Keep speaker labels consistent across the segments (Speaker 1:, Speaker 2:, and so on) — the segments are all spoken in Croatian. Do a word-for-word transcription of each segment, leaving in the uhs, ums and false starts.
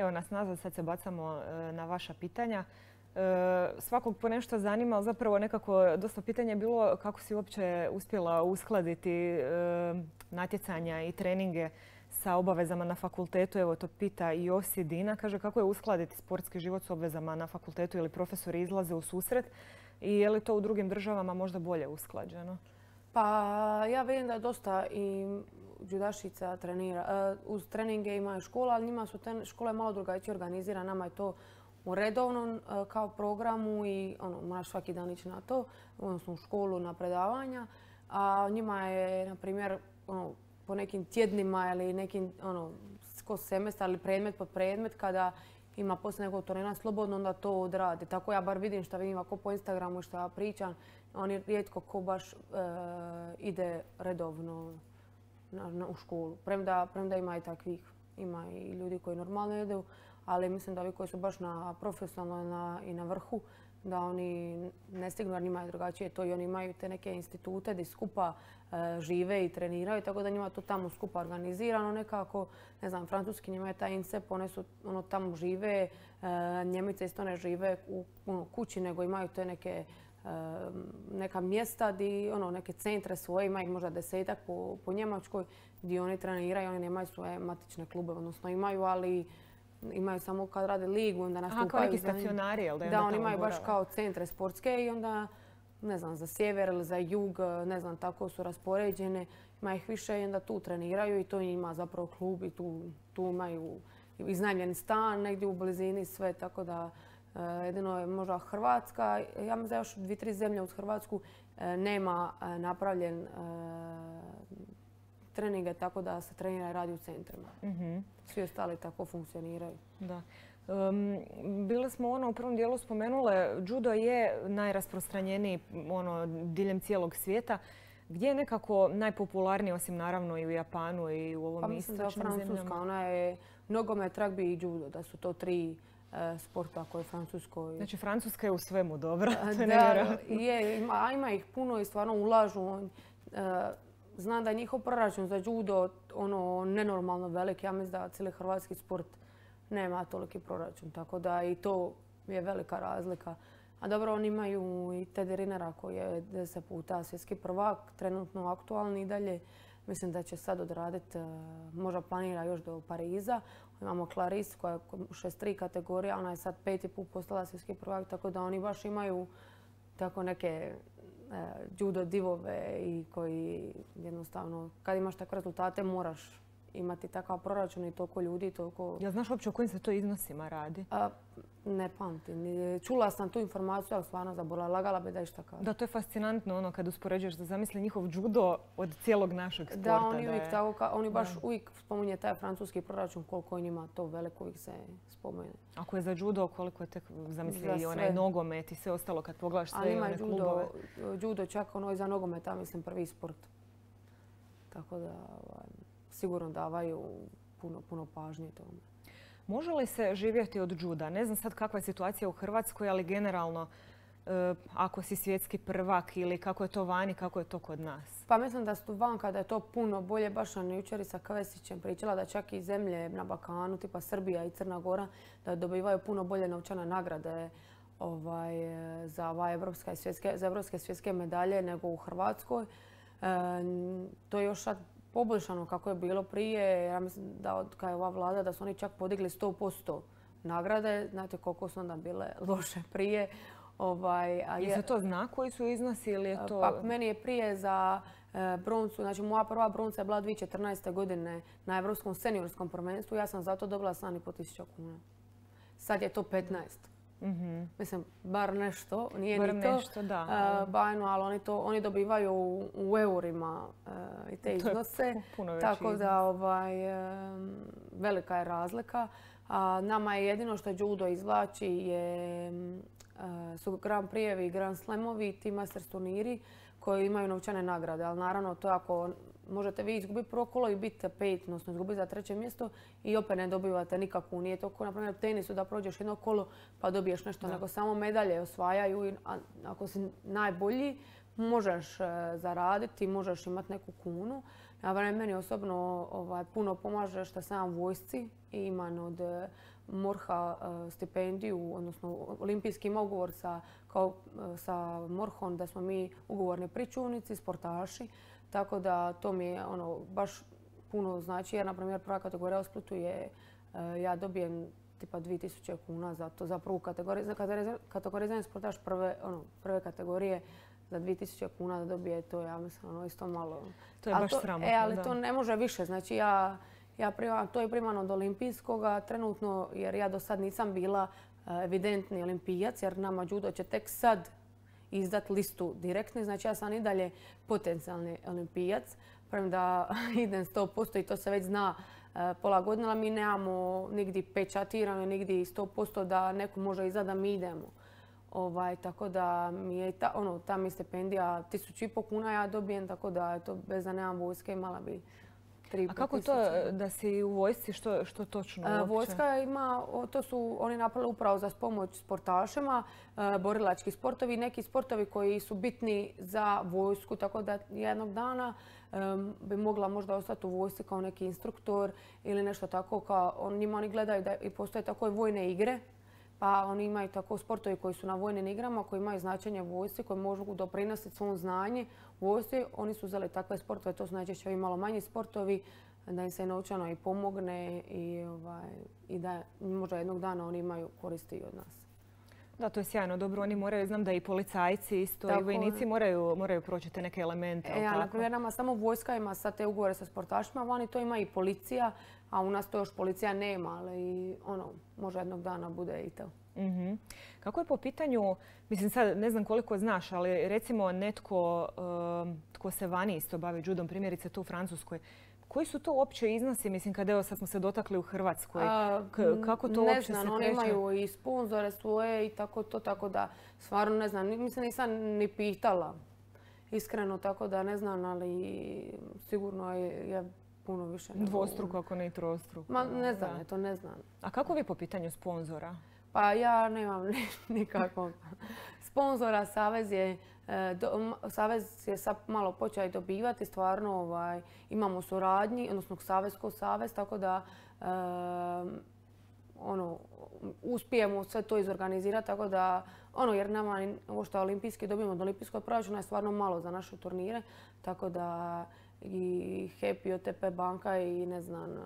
Speaker 1: Evo nas nazad, sad se bacamo na vaša pitanja. Svakog po nešto zanima, ali zapravo nekako dosta pitanja je bilo kako si uopće uspjela uskladiti natjecanja i treninge sa obavezama na fakultetu. Evo to pita i Josi Dina. Kaže kako je uskladiti sportski život s obvezama na fakultetu ili profesori izlaze u susret i je li to u drugim državama možda bolje usklađeno?
Speaker 2: Pa ja vidim da dosta i judašica trenira. Uz treninge imaju škola, ali njima su škole malo drugačije organizirane. Nama je to u redovnom kao programu i ono, moraš svaki dan ići na to, odnosno u školu na predavanja. A njima je, na primjer, ono, po nekim tjednima ili nekim ono, kroz semestar ili predmet po predmet, kada ima poslije nekog turnira slobodno, onda to odradi. Tako ja bar vidim što vidim ako po Instagramu što ja pričam, oni rijetko ko baš e, ide redovno na, na, u školu. Premda, premda ima i takvih, ima i ljudi koji normalno idu, ali mislim da ovi koji su baš na profesionalno na, i na vrhu, da oni ne stignu jer njima je drugačije to i oni imaju te neke institute gdje skupa e, žive i treniraju, tako da njima to tamo skupa organizirano nekako. Ne znam, francuski njima je taj INSEP, one su ono, tamo žive, e, Njemice isto ne žive u ono, kući, nego imaju te neke e, neka mjesta, di, ono, neke centre svoje, ima ih možda desetak po, po Njemačkoj, gdje oni treniraju, oni nemaju svoje matične klube, odnosno imaju, ali imaju samo kad rade ligu, onda nastupaju.
Speaker 1: Aha, kao neki stacionari, jel da?
Speaker 2: Da, oni imaju baš kao centre sportske i onda, ne znam, za sjever ili za jug, ne znam, tako su raspoređene. Ima ih više i onda tu treniraju i to ima zapravo klub i tu, tu imaju iznajmljen stan negdje u blizini sve, tako da jedino je možda Hrvatska. Ja mislim da još dvije, tri zemlje uz Hrvatsku nema napravljen treninge tako da se trenira i radi u centrima. Mm-hmm. Svi ostali tako funkcioniraju.
Speaker 1: Da. Um, bili smo ono u prvom dijelu spomenule, judo je najrasprostranjeniji ono, diljem cijelog svijeta. Gdje je nekako najpopularniji, osim naravno i u Japanu i u ovom
Speaker 2: pa
Speaker 1: istočnim zemljama?
Speaker 2: Pa mislim da je Francuska, ona je nogomet, ragbi i judo, da su to tri e, sporta koje je Francuskoj.
Speaker 1: Znači Francuska je u svemu dobra.
Speaker 2: Da, je, ima, ima ih puno i stvarno ulažu. E, Znam da je njihov proračun za judo ono, nenormalno velik. Ja mislim da cijeli hrvatski sport nema toliki proračun. Tako da i to je velika razlika. A dobro, oni imaju i Teddy Rinera koji je deset puta svjetski prvak, trenutno aktualni i dalje. Mislim da će sad odraditi, možda planira još do Pariza. Imamo Clarice koja je u šezdeset tri kategorija, ona je sad peti put postala svjetski prvak, tako da oni baš imaju tako neke judo divove i koji jednostavno, kad imaš takve rezultate, moraš imati takav proračun i toliko ljudi, toliko...
Speaker 1: Ja znaš uopće o kojim se to iznosima radi?
Speaker 2: A, ne pamtim. Čula sam tu informaciju, ali stvarno zaboravila. Lagala bi da išta kaže.
Speaker 1: Da, to je fascinantno ono kad uspoređuješ da zamisli njihov judo od cijelog našeg sporta.
Speaker 2: Da, oni, da uvijek je... tako, oni baš da. uvijek spominje taj francuski proračun, koliko je njima to veliko uvijek se spomene.
Speaker 1: Ako je za judo, koliko je tek zamisli i onaj nogomet i sve ostalo kad pogledaš sve i one
Speaker 2: judo,
Speaker 1: klubove?
Speaker 2: Judo čak ono i za nogometa, mislim, prvi sport. Tako da... Ovaj, sigurno davaju puno, puno pažnje tome.
Speaker 1: Može li se živjeti od juda? Ne znam sad kakva je situacija u Hrvatskoj, ali generalno e, ako si svjetski prvak ili kako je to vani, kako je to kod nas?
Speaker 2: Pa mislim da su van kada je to puno bolje. Baš sam jučer sa Kavesićem pričala da čak i zemlje na Balkanu, tipa Srbija i Crna Gora, da dobivaju puno bolje novčane nagrade ovaj, za, ovaj evropske svjetske, za evropske svjetske medalje nego u Hrvatskoj. E, to je još sad poboljšano kako je bilo prije. Ja mislim da od kada je ova vlada da su oni čak podigli sto posto nagrade. Znate koliko su onda bile loše prije. Ovaj,
Speaker 1: a je, je se to zna koji su iznosi ili je to...
Speaker 2: Pa meni je prije za e, broncu, znači moja prva bronca je bila dvije tisuće četrnaeste. godine na Evropskom seniorskom prvenstvu. Ja sam zato dobila sedam i pol tisuća kuna. Sad je to petnaest. Mm-hmm. Mislim, bar nešto, nije
Speaker 1: bar
Speaker 2: ni to
Speaker 1: nešto, da.
Speaker 2: Uh, bajno, ali oni, to, oni dobivaju u, u eurima uh, i te iznose. Tako da ovaj, um, velika je razlika. Uh, nama je jedino što judo izvlači je, uh, su Grand Prijevi i Grand Slamovi, ti Masters turniri koji imaju novčane nagrade. Ali naravno to ako možete vi izgubiti prvo kolo i biti pet, odnosno izgubiti za treće mjesto i opet ne dobivate nikakvu. Nije to kao na primjer tenisu da prođeš jedno kolo pa dobiješ nešto, da. Nego samo medalje osvajaju i ako si najbolji možeš zaraditi, možeš imati neku kunu. Na meni osobno ovaj, puno pomaže što sam u vojsci i imam od Morha stipendiju, odnosno olimpijski ima ugovor sa, kao, sa Morhom da smo mi ugovorni pričuvnici, sportaši. Tako da to mi je ono, baš puno znači jer, na primjer, prva kategorija u Splitu je ja dobijem tipa dvije tisuće kuna za to, za prvu kategoriju. Za kategorizirani sportaš prve, ono, prve kategorije za dvije tisuće kuna da dobije to, ja mislim, ono, isto malo.
Speaker 1: To je baš sramotno,
Speaker 2: e, ali
Speaker 1: da.
Speaker 2: to ne može više. Znači, ja, ja primam, to je primano od olimpijskoga trenutno, jer ja do sad nisam bila evidentni olimpijac, jer nama judo će tek sad izdat listu direktno. Znači, ja sam i dalje potencijalni olimpijac, premda idem sto posto i to se već zna pola godine, ali mi nemamo nigdje pečatirano, nigdje sto posto da neko može izdat da mi idemo. Ovaj, tako da mi je ta, ono, ta mi stipendija tisuću i po kuna ja dobijem, tako da eto, bez da nemam vojske imala bi tri i po
Speaker 1: A kako to da si u vojsci, što, što točno uopće?
Speaker 2: Vojska ima, to su oni napravili upravo za pomoć sportašima, borilački sportovi, neki sportovi koji su bitni za vojsku, tako da jednog dana um, bi mogla možda ostati u vojsci kao neki instruktor ili nešto tako. Kao, on, njima oni gledaju da i postoje tako vojne igre, pa oni imaju tako sportovi koji su na vojnim igrama, koji imaju značenje vojsci, koji mogu doprinositi svom znanje vojsci. Oni su uzeli takve sportove, to su najčešće ovi malo manji sportovi, da im se novčano i pomogne i, ovaj, i da možda jednog dana oni imaju koristi i od nas.
Speaker 1: Da, to je sjajno. Dobro, oni moraju, znam da i policajci isto tako, i vojnici moraju, moraju proći te neke elemente.
Speaker 2: E, ali, na primjer, nama samo vojska ima sad te ugovore sa sportašima, vani to ima i policija, a u nas to još policija nema, ali ono, može jednog dana bude i to.
Speaker 1: Mm-hmm. Kako je po pitanju, mislim sad ne znam koliko znaš, ali recimo netko um, tko se vani isto bavi judom, primjerice tu u Francuskoj, koji su to uopće iznosi, mislim, kad evo sad smo se dotakli u Hrvatskoj? K- kako to
Speaker 2: ne
Speaker 1: uopće
Speaker 2: znam,
Speaker 1: se
Speaker 2: oni
Speaker 1: kreće?
Speaker 2: imaju i sponzore svoje i tako to, tako da stvarno ne znam, mislim nisam ni pitala iskreno, tako da ne znam, ali sigurno je, je puno više.
Speaker 1: Dvostruko, ako ne i trostruko.
Speaker 2: Ma ne znam, da. to ne znam.
Speaker 1: A kako vi po pitanju sponzora?
Speaker 2: Pa ja nemam nikakvog sponzora. Savez je, do, savez je sad malo počeo dobivati. Stvarno ovaj, imamo suradnji, odnosno savez ko savez, tako da um, ono, uspijemo sve to izorganizirati. Tako da, ono, jer nama ovo što olimpijski dobijemo od olimpijskog proračuna je stvarno malo za naše turnire. Tako da i HEP i O T P banka i ne znam,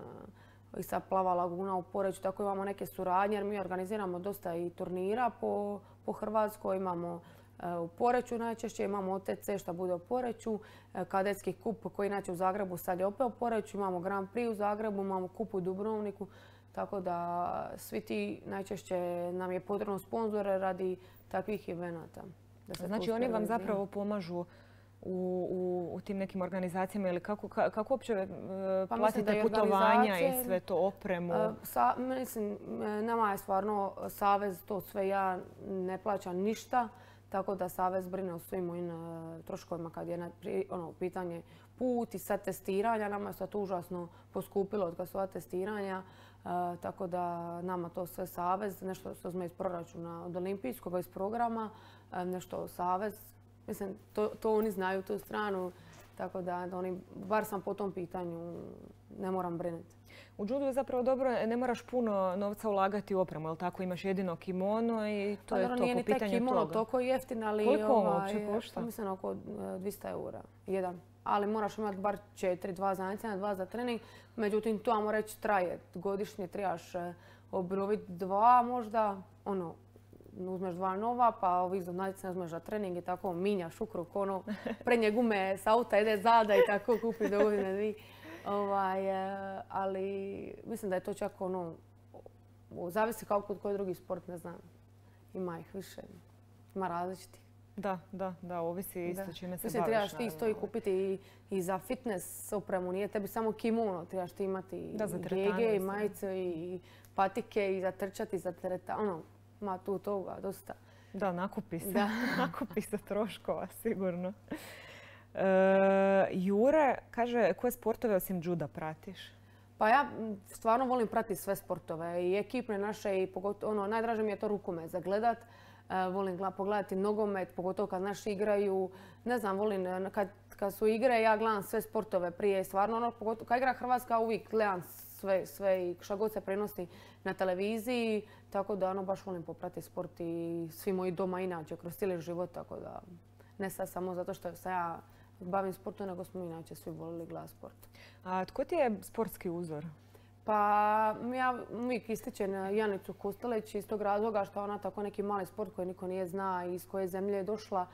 Speaker 2: i sad Plava laguna u Poreču, tako imamo neke suradnje jer mi organiziramo dosta i turnira po, po Hrvatskoj. Imamo e, u Poreču najčešće, imamo O T C što bude u Poreču, e, kadetski kup koji inače u Zagrebu sad je opet u Poreču, imamo Grand Prix u Zagrebu, imamo kup u Dubrovniku, tako da svi ti najčešće nam je potrebno sponzore radi takvih evenata.
Speaker 1: Znači oni vam zapravo pomažu U, u, u tim nekim organizacijama ili kako, kako uopće uh, pa platite putovanja i sve to, opremu?
Speaker 2: Uh, sa, mislim, nama je stvarno savez to sve, ja ne plaćam ništa, tako da savez brine o svim mojim uh, troškovima kad je na, ono, pitanje put i sad testiranja. Nama je sad užasno poskupilo od kad su ova testiranja, uh, tako da nama to sve savez, nešto što smo iz proračuna od olimpijskog, iz programa, uh, nešto savez. Mislim, to, to oni znaju tu stranu, tako da, da oni, bar sam po tom pitanju, ne moram brinuti.
Speaker 1: U judu je zapravo dobro, ne moraš puno novca ulagati u opremu, jel tako? Imaš jedino kimono i to
Speaker 2: pa,
Speaker 1: je to po pitanju toga.
Speaker 2: Nije ni taj kimono toliko jeftin, ali
Speaker 1: koliko
Speaker 2: ovaj,
Speaker 1: uopće košta?
Speaker 2: Mislim oko dvjesto eura, jedan. Ali moraš imati bar četiri, dva za natjecanje, dva za trening. Međutim, to ajmo reći traje. Godišnje trebaš obnoviti dva možda, ono, uzmeš dva nova, pa ovi za natjecanje uzmeš za trening i tako minjaš u krug, ono, prednje gume s auta ide zada i tako kupi do godine dvije. Ovaj, ali mislim da je to čak ono, zavisi kao kod koji drugi sport, ne znam. Ima ih više, ima različiti.
Speaker 1: Da, da, da, ovisi isto čime se
Speaker 2: mislim,
Speaker 1: baviš.
Speaker 2: Trebaš ti isto i kupiti i, i za fitness opremu, nije tebi samo kimono, trebaš ti imati i gege, i majice, i patike, i za trčati, i za teretanu, ono, ima tu toga dosta.
Speaker 1: Da, nakupi se,
Speaker 2: da.
Speaker 1: nakupi se troškova, sigurno. E, Jure kaže, koje sportove osim juda pratiš?
Speaker 2: Pa ja stvarno volim pratiti sve sportove i ekipne naše i pogotovo, ono, najdraže mi je to rukomet za gledat. E, volim pogledati nogomet, pogotovo kad naši igraju. Ne znam, volim kad, kad su igre, ja gledam sve sportove prije. Stvarno, ono, pogotovo kad igra Hrvatska, uvijek gledam sve, sve i šta god se prenosi na televiziji. Tako da, ono, baš volim popratiti sport i svi moji doma inače, kroz cijeli život. Tako da, ne sad samo zato što se ja bavim sportom, nego smo inače svi volili gledati sport.
Speaker 1: A tko ti je sportski uzor?
Speaker 2: Pa ja uvijek ističem Janicu Kostelić iz tog razloga što ona tako neki mali sport koji niko nije zna i iz koje zemlje je došla,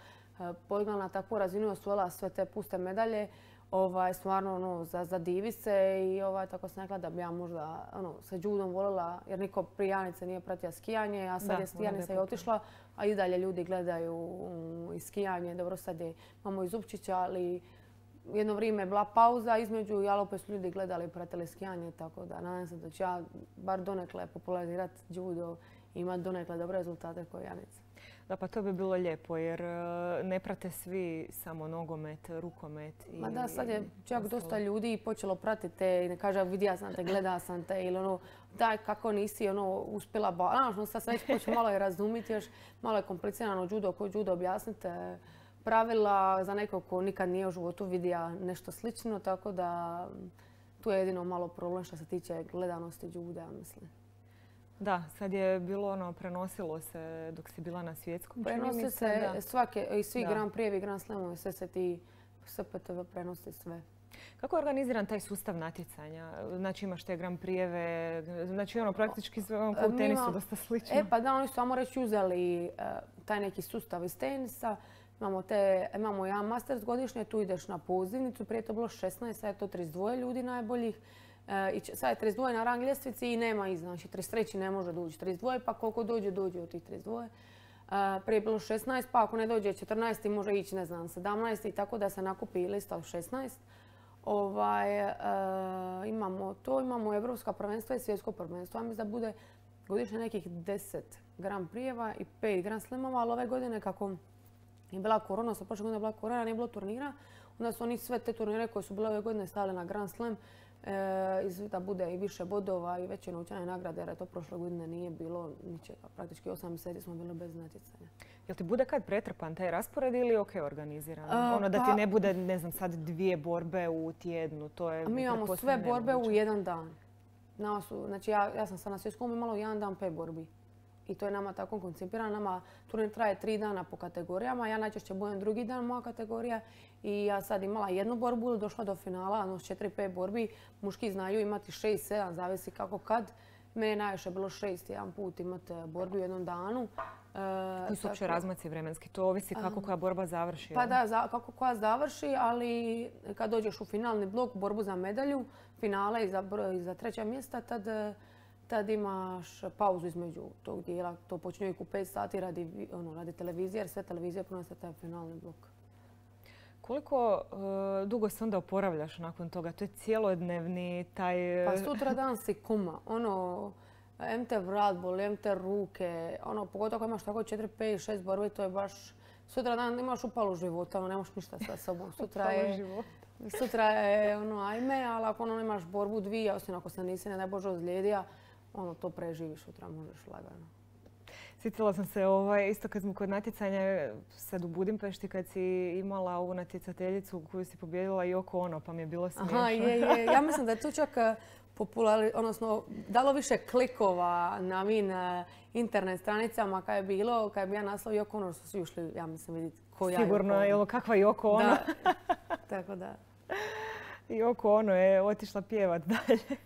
Speaker 2: podigla na takvu razinu i osvojila sve te puste medalje. Ovaj, stvarno ono, za, za divi se i ovaj, tako sam rekla da bi ja možda ono, sa judom volila, jer niko prije Janice nije pratila skijanje, a sad da, je Janica i otišla, a i dalje ljudi gledaju um, i skijanje. Dobro, sad je, imamo i Zupčića, ali jedno vrijeme je bila pauza između i opet su ljudi gledali i pratili skijanje, tako da nadam se da ću ja bar donekle popularizirati judo i imati donekle dobre rezultate kao Janica.
Speaker 1: Da, pa to bi bilo lijepo jer ne prate svi samo nogomet, rukomet. I,
Speaker 2: Ma da, sad je čak dosta ljudi počelo pratiti te i ne kaže vidio sam te, gleda sam te ili ono daj kako nisi ono uspjela ba... Znaš, no sad se već počne malo i razumiti još, malo je komplicirano judo, ko judo objasnite pravila za nekog ko nikad nije u životu vidio nešto slično, tako da tu je jedino malo problem što se tiče gledanosti juda, mislim.
Speaker 1: Da, sad je bilo ono, prenosilo se dok si bila na svjetskom.
Speaker 2: Prenosi se svake, i svi Grand Prix i Grand Slamovi, sve se ti S P T V prenosi sve.
Speaker 1: Kako je organiziran taj sustav natjecanja? Znači imaš te Grand Prix-eve, znači ono praktički sve ono, u tenisu dosta slično.
Speaker 2: E pa da, oni su samo reći uzeli uh, taj neki sustav iz tenisa. Imamo, te, imamo jedan Masters godišnje, tu ideš na pozivnicu, prije to bilo šesnaest, sad je to trideset dva ljudi najboljih. I sad je trideset dva na rang ljestvici i nema iz, znači trideset tri ne može doći trideset dva, pa koliko dođe, dođe od tih trideset dva. Prije je bilo šesnaest, pa ako ne dođe četrnaest može ići, ne znam, sedamnaest i tako da se nakupi lista od šesnaest. Ovaj, uh, imamo to, imamo evropska prvenstva i svjetsko prvenstvo. Ja mislim da bude godišnje nekih deset Grand Prix-eva i pet Grand Slamova, ali ove godine kako je bila korona, sa prošle godine je bila korona, nije bilo turnira, onda su oni sve te turnire koje su bile ove godine stavili na Grand Slam, E, da bude i više bodova i veće novčane nagrade, jer to prošle godine nije bilo ničega. Praktički osam mjeseci smo bili bez natjecanja.
Speaker 1: Jel ti bude kad pretrpan taj raspored ili ok organiziran? A, ono da pa, ti ne bude, ne znam, sad dvije borbe u tjednu, to je...
Speaker 2: Mi imamo sve borbe u jedan dan. Su, znači ja, ja sam sad na svjetskom imala u jedan dan pet borbi. I to je nama tako koncipirano. Nama turnir traje tri dana po kategorijama. Ja najčešće budem drugi dan moja kategorija. I ja sad imala jednu borbu, došla do finala, ono s četiri pet borbi. Muški znaju imati šest sedam, zavisi kako kad. Mene je najviše bilo šest jedan put imati borbi u jednom danu.
Speaker 1: Koji su uopće razmaci vremenski? To ovisi kako koja borba završi.
Speaker 2: Pa da, za, kako koja završi, ali kad dođeš u finalni blok, borbu za medalju, finale i za, i za treća mjesta, tad, tad imaš pauzu između tog dijela. To počinje uvijek u pet sati radi, ono, radi televizije, jer sve televizije pronose taj finalni blok.
Speaker 1: Koliko uh, dugo se onda oporavljaš nakon toga? To je cijelodnevni taj...
Speaker 2: Pa sutra dan si kuma. Ono, em te vrat boli, em te ruke. Ono, pogotovo ako imaš tako četiri, pet, šest borbi, to je baš... Sutra dan imaš upalu života, ono, nemaš ništa sa sobom. Sutra je, sutra je ono, ajme, ali ako ono, imaš borbu dvije, osim ako se nisi, ne daj Bože, ozlijedija, ono, to preživiš, sutra možeš lagano.
Speaker 1: Sjetila sam se ovaj, isto kad smo kod natjecanja sad u Budimpešti kad si imala ovu natjecateljicu koju si pobijedila Yoko Ono, pa mi je bilo smiješno.
Speaker 2: Aha, je, je. Ja mislim da je tu čak populari, odnosno dalo više klikova na ovim internet stranicama kad je bilo, kad je bio naslov Yoko Ono, su svi ušli, ja mislim, vidjeti ko ja
Speaker 1: Sigurno, Yoko Ono. Kakva Yoko Ono.
Speaker 2: Da, tako da.
Speaker 1: Yoko Ono je otišla pjevat dalje.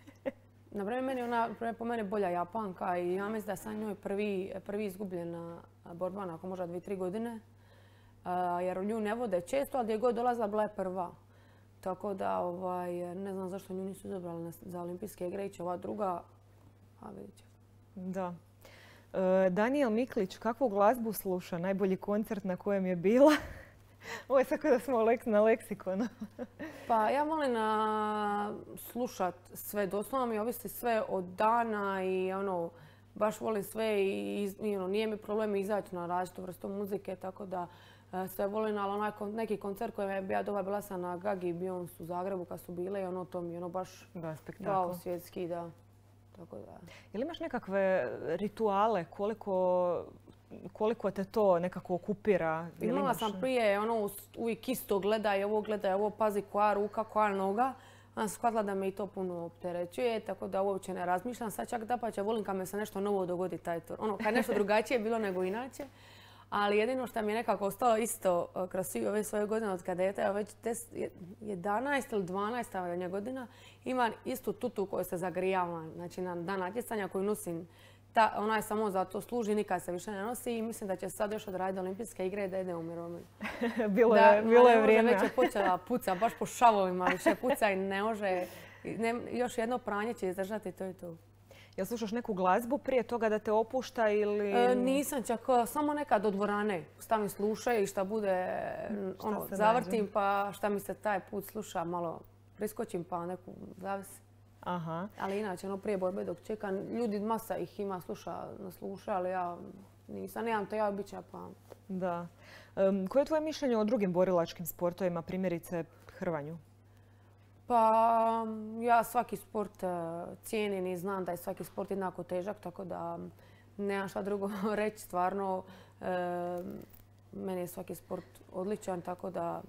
Speaker 2: Naprimjer, meni je ona po meni bolja Japanka i ja mislim da sam njoj prvi, prvi izgubljena borba nakon možda dvije, tri godine. Uh, jer nju ne vode često, ali gdje god dolazila bila je prva. Tako da ovaj, ne znam zašto nju nisu izabrali za olimpijske igre, iće ova druga, a vidit će.
Speaker 1: Da. Uh, Danijel Miklić, kakvu glazbu sluša? Najbolji koncert na kojem je bila? Ovo je tako da smo na leksikonu.
Speaker 2: Pa ja volim na slušat sve, doslovno mi ovisi sve od dana i ono, baš volim sve i, i ono, nije mi problem izaći na različitu vrstu muzike, tako da sve volim, ali onaj neki koncert koji je ja doba bila sam na Gagi i Beyoncé u Zagrebu kad su bile i ono to mi ono baš
Speaker 1: da, spektakl.
Speaker 2: Dao svjetski, da. Tako da.
Speaker 1: Je li imaš nekakve rituale koliko koliko te to nekako okupira?
Speaker 2: Imala sam prije ono uvijek isto gledaj, ovo gledaj, ovo pazi koja ruka, koja noga. Onda sam shvatila da me i to puno opterećuje, tako da uopće ne razmišljam. Sad čak dapače, volim kad me se nešto novo dogodi taj tur. Ono, kad nešto drugačije bilo nego inače. Ali jedino što mi je nekako ostalo isto kroz svi ove svoje godine od kadeta, evo već jedanaest ili dvanaest godina, imam istu tutu koju se zagrijavam. Znači na dan natjecanja koju nosim, ona je samo za to služi, nikad se više ne nosi i mislim da će sad još odraditi olimpijske igre da ide u mirovinu.
Speaker 1: Bilo je, bilo je vrijeme.
Speaker 2: Već je počela puca, baš po šavovima više puca i ne može, još jedno pranje će izdržati, to je to.
Speaker 1: Jel slušaš neku glazbu prije toga da te opušta ili...
Speaker 2: E, nisam čak, samo nekad od dvorane. Stavim slušaj i šta bude, ono, zavrtim pa šta mi se taj put sluša, malo priskočim pa neku zavisi.
Speaker 1: Aha.
Speaker 2: Ali inače, ono, prije borbe dok čekam, ljudi, masa ih ima sluša, sluša, ali ja nisam, nemam to ja običaj pa...
Speaker 1: Da. Um, koje je tvoje mišljenje o drugim borilačkim sportovima, primjerice hrvanju?
Speaker 2: Pa ja svaki sport cijenim i znam da je svaki sport jednako težak, tako da nemam šta drugo reći. Stvarno, meni je svaki sport odličan, tako da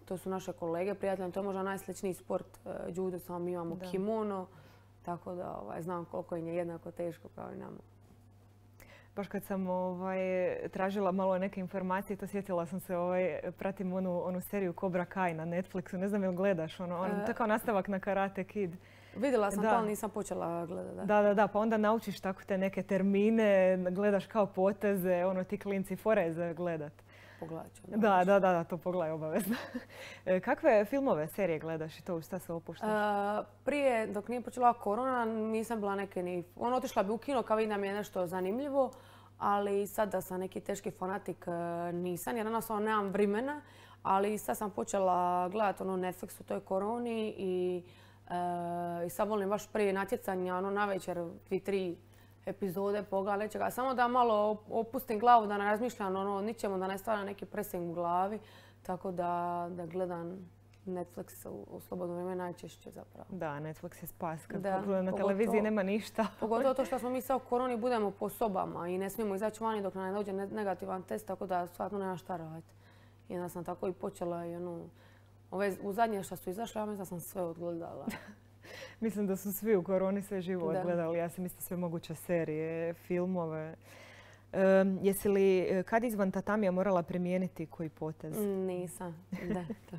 Speaker 2: to su naše kolege, prijatelji. To je možda najsličniji sport judo, samo mi imamo kimono, tako da znam koliko im je jednako teško kao i nama.
Speaker 1: Baš kad sam ovaj, tražila malo neke informacije, to sjetila sam se, ovaj, pratim onu, onu seriju Cobra Kai na Netflixu. Ne znam jel gledaš, ono, on, to kao nastavak na Karate Kid.
Speaker 2: Vidjela sam da, ali nisam počela gledati. Da.
Speaker 1: da, da, da, pa onda naučiš tako te neke termine, gledaš kao poteze, ono ti klinci foreze gledat.
Speaker 2: Pogledat ću.
Speaker 1: Da, da, da, da, to pogledaj obavezno. Kakve filmove, serije gledaš i to u šta se opuštaš?
Speaker 2: Uh, prije, dok nije počela korona, nisam bila neke ni... Ono, otišla bi u kino kao vidim da mi je nešto zanimljivo, ali sad da sam neki teški fanatik nisam, jer jednostavno nemam vremena, ali sad sam počela gledati ono Netflix u toj koroni i, uh, i sad volim baš prije natjecanja, ono navečer dvije, tri epizode pogledam nečega. Samo da malo opustim glavu, da ne razmišljam ono ničemu, da ne stvaram neki pressing u glavi. Tako da, da gledam Netflix u, u slobodno vrijeme najčešće zapravo.
Speaker 1: Da, Netflix je spas. Kad
Speaker 2: da,
Speaker 1: na televiziji nema ništa.
Speaker 2: Pogotovo to što smo mi sad u koroni budemo po sobama i ne smijemo izaći vani dok nam ne dođe negativan test, tako da stvarno nema šta raditi. I onda sam tako i počela i ono, ove, u zadnje što su izašle, ja mislim da sam sve odgledala.
Speaker 1: Mislim da su svi u koroni sve živo odgledali. Ja sam isto sve moguće serije, filmove. Um, jesi li kad izvan tatamija morala primijeniti koji potez?
Speaker 2: Nisam, da. To.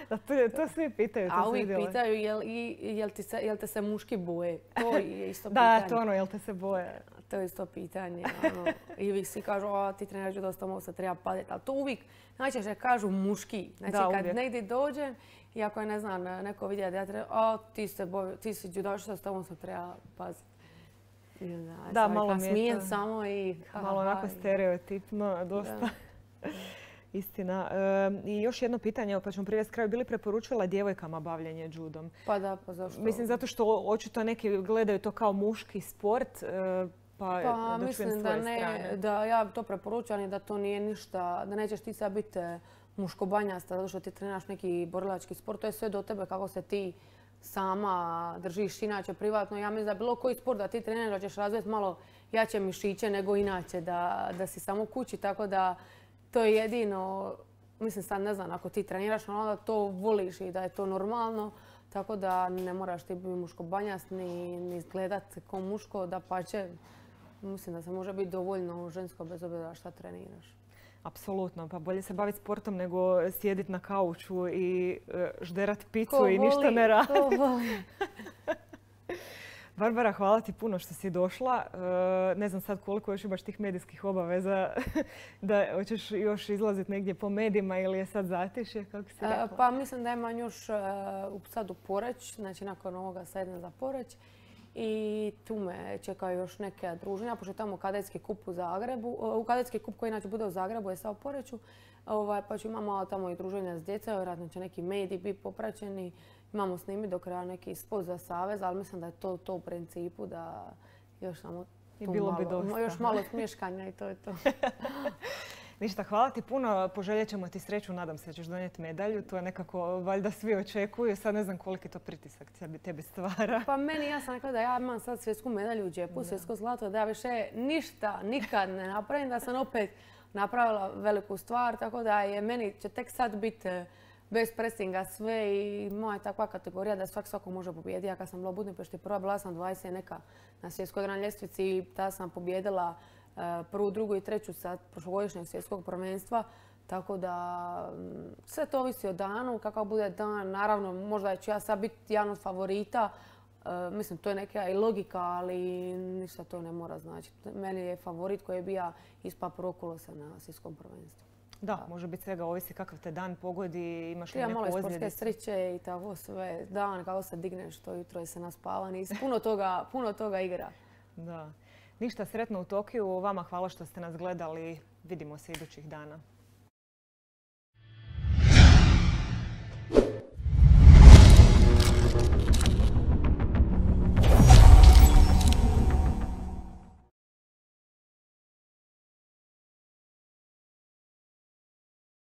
Speaker 1: Da, to, to svi pitaju. To
Speaker 2: A uvijek pitaju jel, jel, ti se, jel te se muški boje. To je isto
Speaker 1: da,
Speaker 2: pitanje.
Speaker 1: Da, to ono, jel te se boje.
Speaker 2: To je isto pitanje. Ono. I uvijek svi kažu, a ti treniraš dosta, ovo se treba padeti. Ali to uvijek, najčešće kažu muški. Znači da, kad negdje dođem, i ako je, ne znam, neko vidjeti da ja treba, a ti, se boje, ti si judašica, s tobom se treba paziti.
Speaker 1: Da, da malo mi je to,
Speaker 2: samo i...
Speaker 1: Malo onako stereotipno, dosta. Da. Istina. E, I još jedno pitanje, pa ćemo privesti kraju. Bili preporučila djevojkama bavljenje judom?
Speaker 2: Pa da, pa zašto?
Speaker 1: Mislim zato što očito neki gledaju to kao muški sport, e, pa,
Speaker 2: pa da mislim da ne,
Speaker 1: strane.
Speaker 2: Da ja to preporučam i da to nije ništa, da nećeš ti sad biti muškobanjasta zato što ti treniraš neki borilački sport. To je sve do tebe kako se ti sama držiš inače privatno. Ja mislim da bilo koji sport da ti treniraš da ćeš razviti malo jače mišiće nego inače, da, da si samo kući, tako da to je jedino, mislim sad ne znam, ako ti treniraš onda to voliš i da je to normalno, tako da ne moraš ti biti muškobanjast ni, ni izgledat kao muško, da pa će, mislim da se može biti dovoljno žensko bez obzira šta treniraš.
Speaker 1: Apsolutno, pa bolje se baviti sportom nego sjediti na kauču i žderati picu
Speaker 2: ko
Speaker 1: i
Speaker 2: voli,
Speaker 1: ništa ne raditi.
Speaker 2: Ko voli.
Speaker 1: Barbara, hvala ti puno što si došla. Ne znam sad koliko još imaš tih medijskih obaveza da hoćeš još izlaziti negdje po medijima ili je sad zatišje, kako si rekla?
Speaker 2: Pa mislim da imam još sad u Poreć, znači nakon ovoga sad idem za Poreć. I tu me čekaju još neke druženja, pošto je tamo kadetski kup u Zagrebu. U kadetski kup koji inače bude u Zagrebu je sad u Poreču. Ovaj, pa ću imamo tamo i druženja s djecom, vjerojatno će neki mediji biti popraćeni. Imamo snimiti do kraja neki spot za savez, ali mislim da je to, to u principu da još samo
Speaker 1: I bilo
Speaker 2: malo,
Speaker 1: bi dosta.
Speaker 2: još malo smješkanja i to je to.
Speaker 1: Ništa, hvala ti puno. Poželjet ćemo ti sreću. Nadam se da ćeš donijeti medalju. To je nekako, valjda svi očekuju. Sad ne znam koliki to pritisak tebi stvara.
Speaker 2: Pa meni, ja sam rekla da ja imam sad svjetsku medalju u džepu, svjetsko zlato, da ja više ništa nikad ne napravim, da sam opet napravila veliku stvar. Tako da je meni će tek sad biti bez presinga sve i moja je takva kategorija da svak svako može pobijediti. Ja kad sam bila u Budimpešti prva, bila sam dvadeset neka na svjetskoj gran ljestvici i tada sam pobjedila prvu, drugu i treću sa prošlogodišnjeg svjetskog prvenstva. Tako da sve to ovisi o danu, kakav bude dan. Naravno, možda ću ja sad biti jedan od favorita. Mislim, to je neka i logika, ali ništa to ne mora značiti. Meni je favorit koji je bio ispa prvog kolosa na svjetskom prvenstvu.
Speaker 1: Da, može biti svega, ovisi kakav te dan pogodi, imaš li neku
Speaker 2: ozljedicu. Ja malo sportske sreće i tako sve. Dan, kako se digneš, to jutro je se naspavan i puno toga, puno toga igra.
Speaker 1: Da. Ništa, sretno u Tokiju. Vama hvala što ste nas gledali. Vidimo se idućih dana.